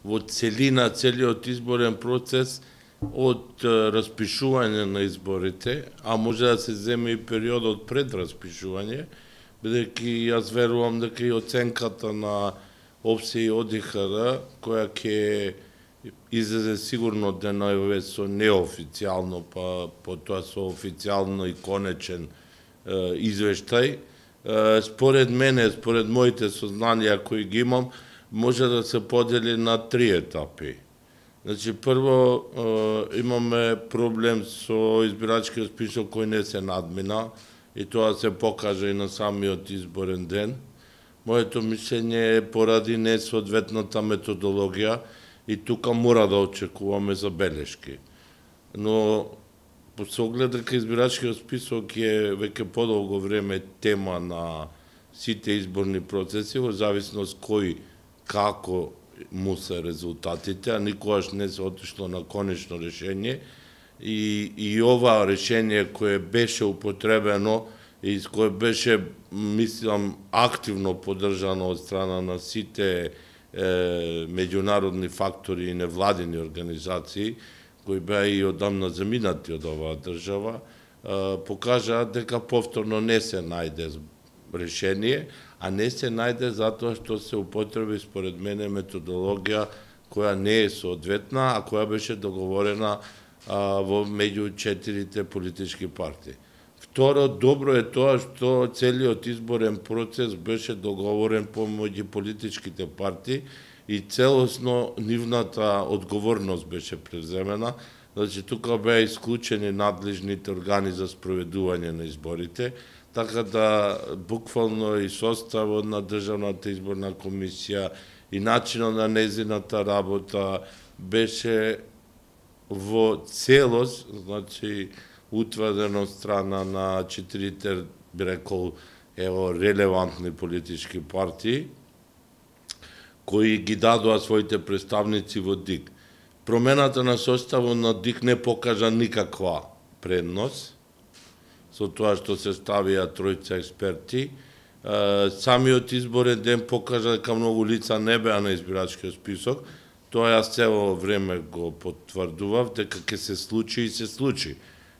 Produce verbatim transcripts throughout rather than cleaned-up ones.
во целина целиот изборен процес од распишување на изборите, а може да се земе и периодот пред распишување, бидејќи јас верувам дека и оценката на ОПСЕ и ОДИХР, која ќе излезе сигурно денове со неофицијално, па потоа со официјално и конечен е, извештај, е, според мене, според моите сознанија кои ги имам, може да се подели на три етапи. Значи, прво е, имаме проблем со избирачкиот список кој не се надмина, и тоа се покажа и на самиот изборен ден. Моето мислење е поради несоодветната методологија и тука мора да очекуваме забелешки. Но по се оглед дека избирачкиот список е веќе подолго време тема на сите изборни процеси, во зависност кој како му се резултатите, а никогаш не се отишло на конечно решение. И, и ова решение кое беше употребено и кое беше, мислам, активно поддржано од страна на сите е, меѓународни фактори и невладини организации, кои беа и одамна заминати од оваа држава, е, покажа дека повторно не се најде решение, а не се најде затоа што се употреби според мене методологија која не е соодветна, а која беше договорена а, во меѓу четирите политички партии. Второ, добро е тоа што целиот изборен процес беше договорен помеѓу политичките партии и целосно нивната одговорност беше преземена. Значи, тука беа исклучени надлежните органи за спроведување на изборите, така да буквално и составот на Државната изборна комисија и начинот на незината работа беше во целост, значи, утврдено страна на четирите, би рекол, ево, релевантни политички партии, кои ги дадоа своите представници во ДИК. Промената на составот на ДИК не покажа никаква предност, со тоа што се ставија тројца експерти. Самиот изборен ден покажа дека многу лица не беа на избирачкиот список. Тоа јас цело време го потврдував, дека ќе се случи и се случи.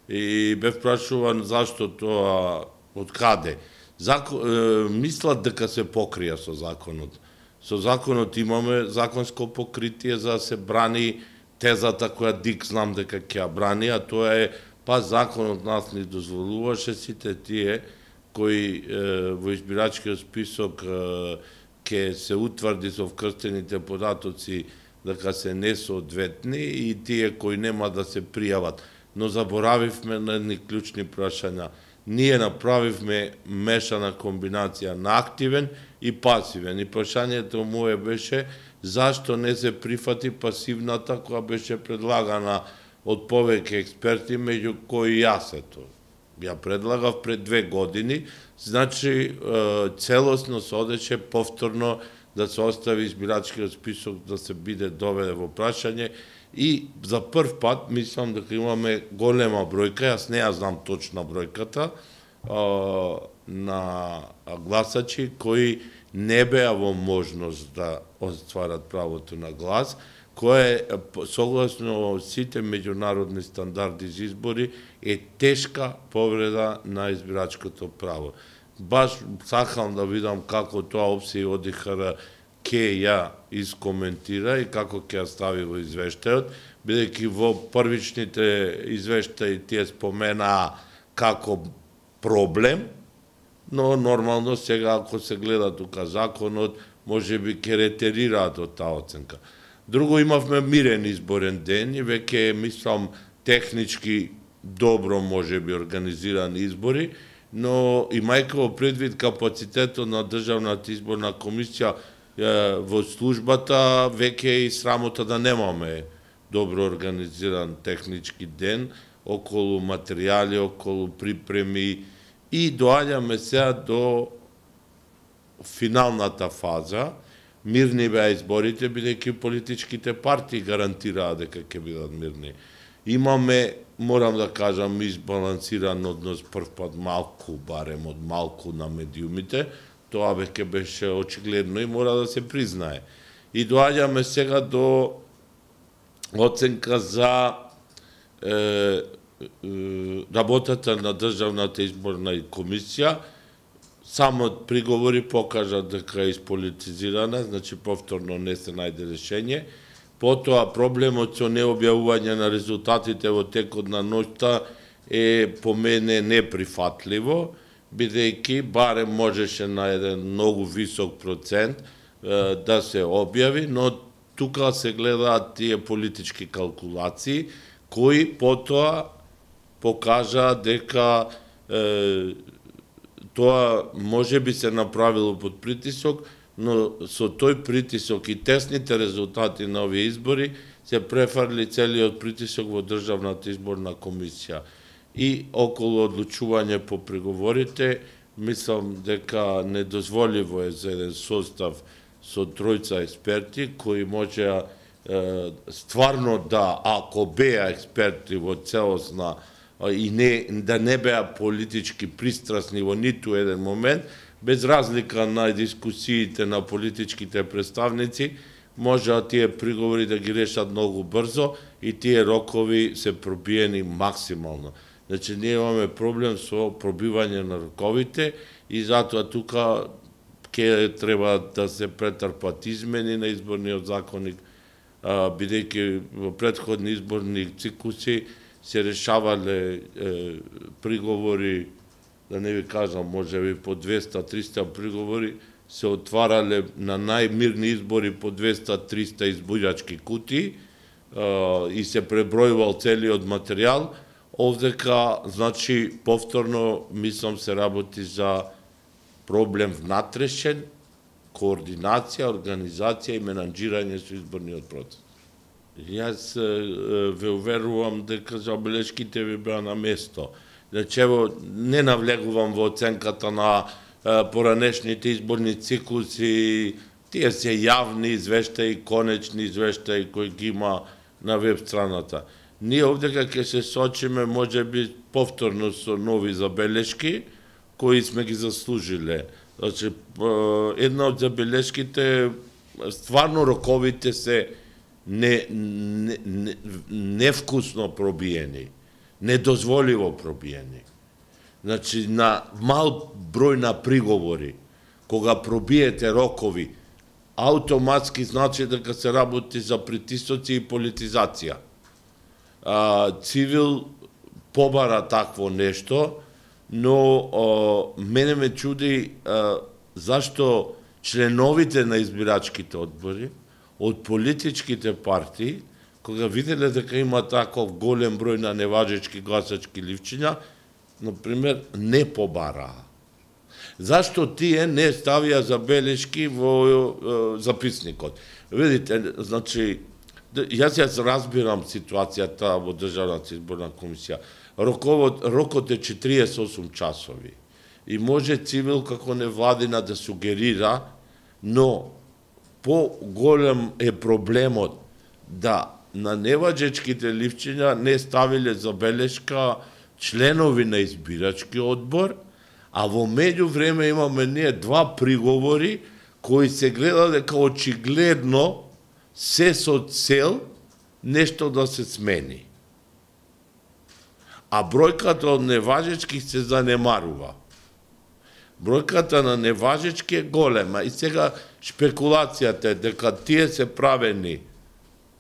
И бев прашуван зашто тоа, од каде. Зако, е, мислат дека се покрија со законот. Со законот имаме законско покритие за да се брани тезата која ДИК знам дека ќе ја брани, а тоа е па законот нас ни дозволуваше сите тие кои е, во избирачкиот список е, ќе се утврди со вкрстените податоци дека се несоодветни и тие кои нема да се пријават. Но заборавивме на едни клучни прашања. Ние направивме мешана комбинација на активен и пасивен. И прашањето мое беше зашто не се прифати пасивната која беше предлагана од повеќе експерти, меѓу кои јас ето. Ја предлагав пред две години, значи целосно се одеше повторно да се остави избирачкиот список да се биде доведе во прашање и за прв пат мислам дека имаме голема бројка, јас не ја знам точна бројката, на гласачи кои не беа во можност да остварат правото на глас, кое согласно сите меѓународни стандарди за избори е тешка повреда на избирачкото право. Баш сакам да видам како тоа ОПСЕ и ОДИХР ќе ја искоментира и како ќе ја стави во извештајот, бидејќи во првичните извештаи тие споменаа како проблем, но нормално сега ако се гледа тука законот, може би ќе ретерираат од таа оценка. Друго, имавме мирен изборен ден и веќе, мислам, технички добро може би организирани избори, но имајќи во предвид капацитетот на Државната изборна комисија во службата, веќе и срамота да немаме добро организиран технички ден околу материјали, околу припреми и доаѓаме сега до финалната фаза. Мирни беа изборите, бидејќи политичките партии гарантираа дека ќе бидат мирни. Имаме, морам да кажам, избалансиран однос прв пат малку, барем од малку на медиумите, тоа веќе беше очигледно и мора да се признае. И доаѓаме сега до оценка за е, е, работата на Државната изборна комисија. Само приговори покажат дека е исполитизирана, значи повторно не се најде решение. Потоа проблемот со необјавување на резултатите во текот на ноќта е по мене неприфатливо, бидејќи барем можеше на еден многу висок процент е, да се објави, но тука се гледаат тие политички калкулации, кои потоа покажаа дека е, тоа може би се направило под притисок, но со тој притисок и тесните резултати на овие избори се префарли целиот притисок во Државната изборна комисија. И околу одлучување по преговорите, мислам дека недозволиво е за еден состав со тројца експерти кои можеа е, стварно да, ако беа експерти во целосна и не, да не беа политички пристрасни во ниту еден момент, без разлика на дискусиите на политичките представници, можеа тие приговори да ги решат многу брзо и тие рокови се пробиени максимално. Значи, ние имаме проблем со пробивање на роковите и затоа тука ќе треба да се претрпат измени на изборниот законник, бидејќи во претходни изборни циклуси се решавале е, приговори, да не ви кажам, може би по двеста триста приговори, се отварале на најмирни избори по двеста триста избирачки кутии и се пребројувал целиот материјал. Овдека, значи, повторно, мислам, се работи за проблем внатрешен, координација, организација и менаџирање со изборниот процес. Јас ве уверувам дека забелешките ви беа на место. Значи, ево, не навлегувам во оценката на поранешните изборни циклуси, тие се јавни извештаи, конечни извештаи кои ги има на веб страната. Ние овдека ќе се сочиме можеби повторно со нови забелешки кои сме ги заслужиле. Значи, една од забелешките, стварно роковите се не, не, не, невкусно пробиени, недозволиво пробиени. Значи, на мал број на приговори, кога пробиете рокови, автоматски значи дека се работи за притисоци и политизација. А, цивил побара такво нешто, но а, мене ме чуди а, зашто членовите на избирачките одбори од политичките партии, кога виделе дека има таков голем број на неважечки гласачки ливчиња, например, не побараа. Зашто тие не ставија забелешки во е, записникот? Видите, значи, јас јас разбирам ситуацијата во Државната изборна комисија. Роковот, рокот е четириесет и осум часови. И може цивил како невладина да сугерира, но по-голем е проблемот да на неваџечките ливчиња не ставиле забелешка членови на избирачки одбор, а во меѓувреме имаме ние два приговори кои се гледа дека очигледно се со цел нешто да се смени. А бројката од неважечки се занемарува. Бројката на неважечки е голема и сега шпекулацијата е дека тие се правени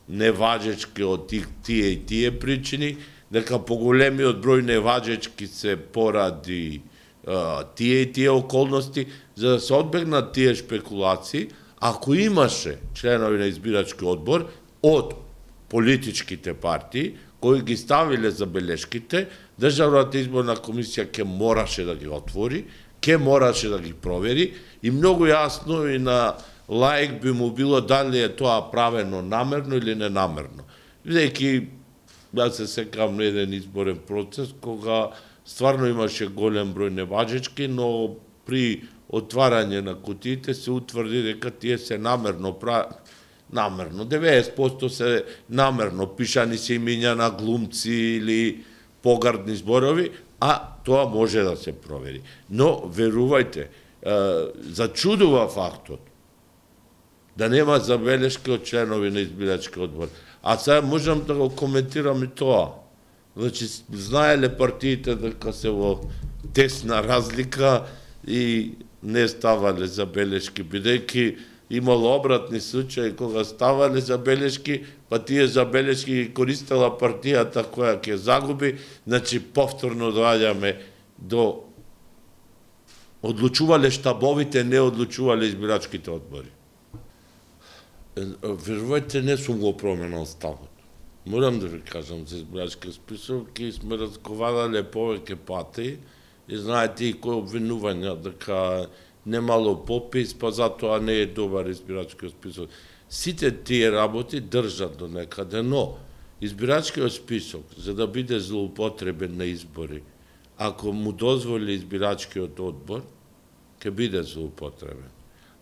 неважечки од тие и тие причини, дека поголемиот број неважечки се поради а, тие и тие околности, за да се одбегнат тие шпекулации, ако имаше членови на избирачки одбор од политичките партии, кои ги ставиле забелешките, Државната изборна комисија ќе мораше да ги отвори, ќе мораше да ги провери и многу јасно и на лаик би му било дали е тоа правено намерно или ненамерно. Бидејќи да се секам на еден изборен процес кога стварно имаше голем број неважечки, но при отварање на кутиите се утврди дека тие се намерно правени. Намерно, деветдесет проценти се намерно, пишани се имиња на глумци или погардни зборови, а тоа може да се провери. Но, верувајте, зачудува фактот да нема забелешки од членови на избирачки одбор. А сега можам да го коментирам и тоа. Значи, знаеле партиите дека се во тесна разлика и не ставале забелешки, бидејќи имало обратни случаи кога ставале забелешки, па тие забелешки ги користела партијата која ќе загуби, значи повторно доаѓаме до одлучувале штабовите, не одлучувале избирачките одбори. Верувајте, не сум го променал ставот. Морам да ви кажам за избирачки список, и сме разговарале повеќе пати, и знаете и кои обвинувања дека немало попис, па затоа не е добар избирачки список. Сите тие работи држат до некаде, но избирачкиот список, за да биде злоупотребен на избори, ако му дозволи избирачкиот одбор, ќе биде злоупотребен.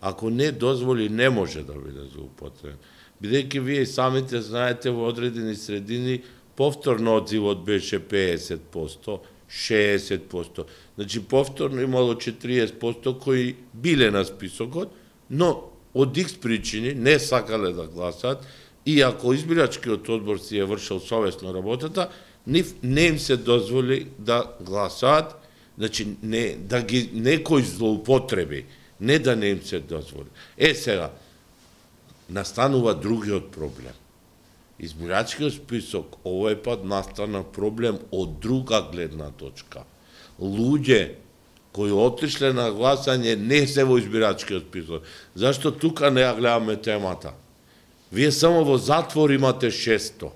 Ако не дозволи, не може да биде злоупотребен. Бидејќи вие самите знаете, во одредени средини повторно одзивот беше педесет проценти, шеесет проценти. Значи повторно имало четириесет проценти кои биле на списокот, но од икс причини не сакале да гласат, и ако избирачкиот одбор си е вршил совесно работата, нив не им се дозволи да гласаат, значи не да ги некој злоупотреби, не да не им се дозволи. Е сега настанува другиот проблем. Избирачкиот список овој пат настана проблем од друга гледна точка. Луѓе кои отишле на гласање не се во избирачкиот список. Зашто тука не ја гледаме темата? Вие само во затвор имате шесто.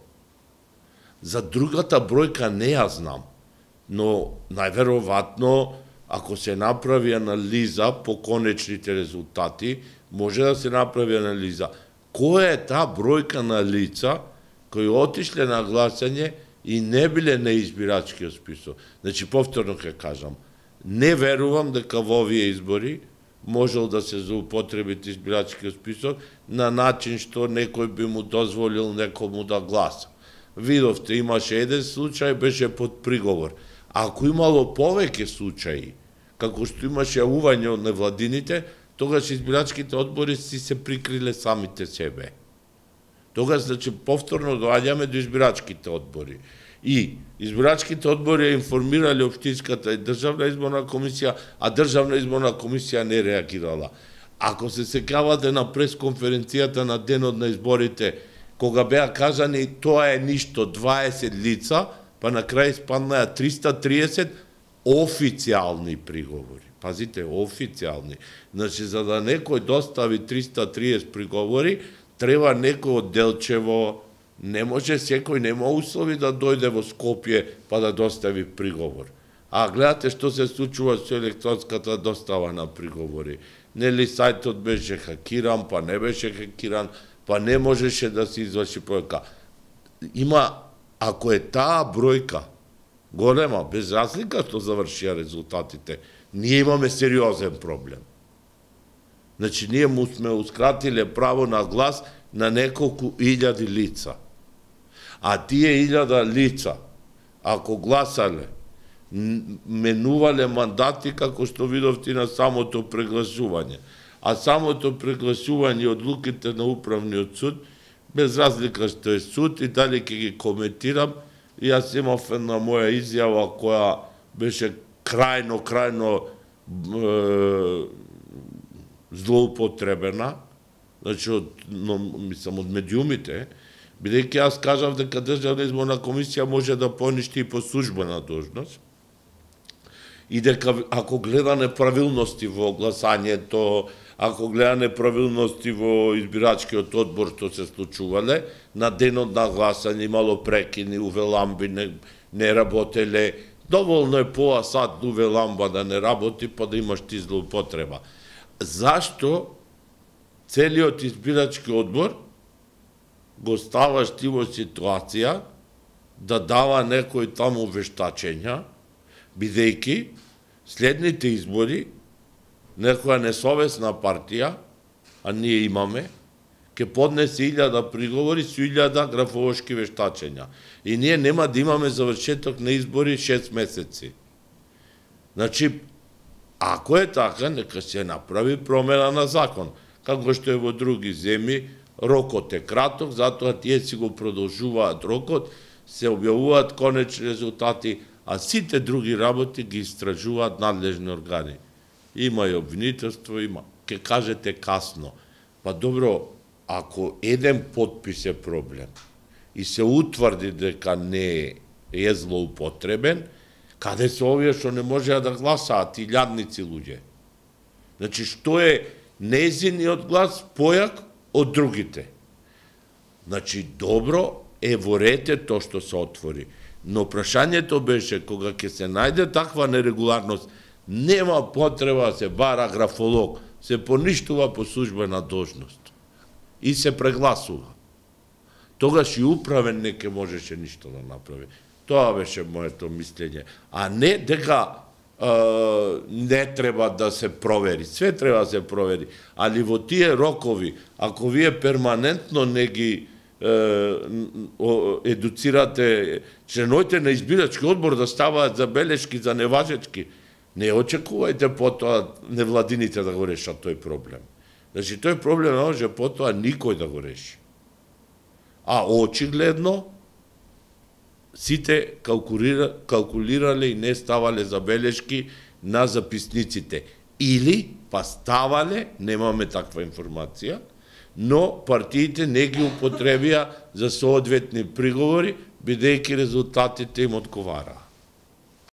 За другата бројка не ја знам, но најверојатно ако се направи анализа по конечните резултати, може да се направи анализа која е таа бројка на лица кои отишле на гласање и не биле на избирачкиот список. Значи, повторно ќе кажам, не верувам дека во овие избори можел да се злоупотреби избирачкиот список на начин што некој би му дозволил некому да гласа. Видовте, имаше еден случај, беше под приговор. Ако имало повеќе случаи, како што имаше јавување од невладините, тогаш избирачките одбори си се прикриле самите себе. Тогаш, значи, повторно доаѓаме до избирачките одбори. И избирачките одбори информирале општинската и државна изборна комисија, а државна изборна комисија не реагирала. Ако се сеќавате на пресконференцијата на денот на изборите, кога беа кажани тоа е ништо дваесет лица, па на крај спаднаа триста триесет официјални приговори. Пазите, официјални. Значи, за да некој достави триста триесет приговори, треба некој од Делчево, не може секој, нема услови да дојде во Скопје па да достави приговор. А гледате што се случува со електронската достава на приговори. Нели сајтот беше хакиран, па не беше хакиран, па не можеше да се изврши проверка. Има, ако е таа бројка голема, без разлика што завршија резултатите, ние имаме сериозен проблем. Значи, ние му смеускратиле право на глас на неколку илјади лица. А тие илјада лица, ако гласале, менувале мандати, како што видовте на самото прегласување. А самото прегласување одлуките на управниот суд, без разлика што е суд, и дали ќе ги коментирам, и јас имав една моја изјава која беше крајно, крајно е, злоупотребена, значи од, но, мислам, од медиумите, бидејќи јас кажав дека Државна изборна комисија може да поништи и по службена должност, и дека ако гледа неправилности во гласањето, ако гледа неправилности во избирачкиот одбор што се случувале, на денот на гласање имало прекини, увеламби не, не работеле, доволно е пола сат увеламба да не работи, па да имаш ти злоупотреба. Зашто целиот избирачки одбор го ставаш ти во ситуација да дава некои таму вештачења, бидејќи следните избори некоја несовесна партија, а ние имаме, ќе поднесе илјада приговори со илјада графолошки вештачења. И ние нема да имаме завршеток на избори шест месеци. Значи, ако е така, нека се направи промена на закон. како што е во други земји, рокот е краток, затоа тие си го продолжуваат рокот, се објавуваат конечни резултати, а сите други работи ги истражуваат надлежни органи. Има и обвинителство, има. Ке кажете касно. Па добро, ако еден подпис е проблем и се утврди дека не е злоупотребен, каде се овие што не можеа да гласаат, и илјадници луѓе? Значи, што е незиниот глас појак од другите? Значи, добро е во рете тоа што се отвори. Но прашањето беше, кога ќе се најде таква нерегуларност, нема потреба да се бара графолог, се поништува по службена должност и се прегласува. Тогаш и управен не ке можеше ништо да направи. Тоа беше моето мислење. А не дека е, не треба да се провери. Све треба да се провери. Али во тие рокови, ако вие перманентно не ги е, едуцирате членовите на избирачки одбор да ставаат забелешки за неважечки, не очекувајте потоа невладините да го решат тој проблем. Значи, тој проблем не може потоа никој да го реши. А очигледно, сите калкулира, калкулирале и не ставале забелешки на записниците. Или па ставале, немаме таква информација, но партиите не ги употребија за соодветни приговори, бидејќи резултатите им одговараа.